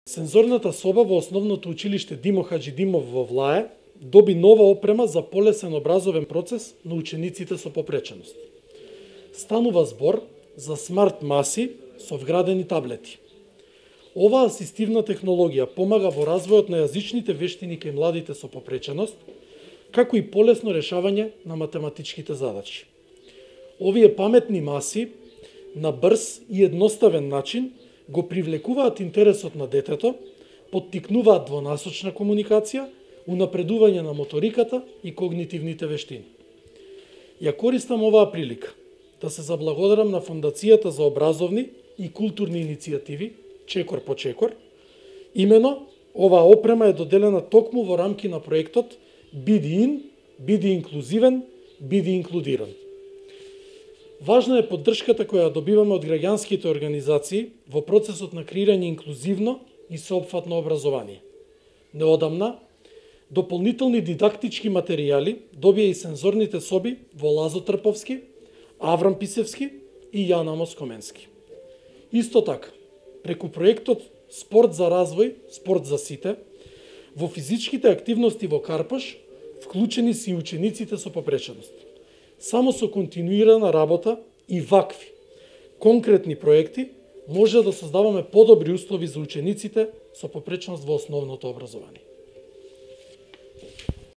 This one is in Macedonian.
Сензорната соба во Основното училиште Димо Хаџидимов во Влае доби нова опрема за полесен образовен процес на учениците со попреченост. Станува збор за смарт маси со вградени таблети. Оваа асистивна технологија помага во развојот на јазичните вештини кај младите со попреченост, како и полесно решавање на математичките задачи. Овие паметни маси на брз и едноставен начин го привлекуваат интересот на детето, поттикнуваат двонасочна комуникација, унапредување на моториката и когнитивните вештини. Ја користам оваа прилика да се заблагодарам на Фондацијата за образовни и културни иницијативи, Чекор по Чекор. Имено, оваа опрема е доделена токму во рамки на проектот Биди ин, биди инклузивен, биди инклудиран. Важна е поддршката која добиваме од граѓанските организации во процесот на креирање инклузивно и сеопфатно образование. Неодамна, дополнителни дидактички материјали добија и сензорните соби во Лазо Трповски, Аврам Писевски и Јана Москоменски. Исто така, преку проектот Спорт за развој, спорт за сите, во физичките активности во Карпаш вклучени се и учениците со попреченост. Само со континуирана работа и вакви конкретни проекти може да создаваме подобри услови за учениците со попреченост во основното образование.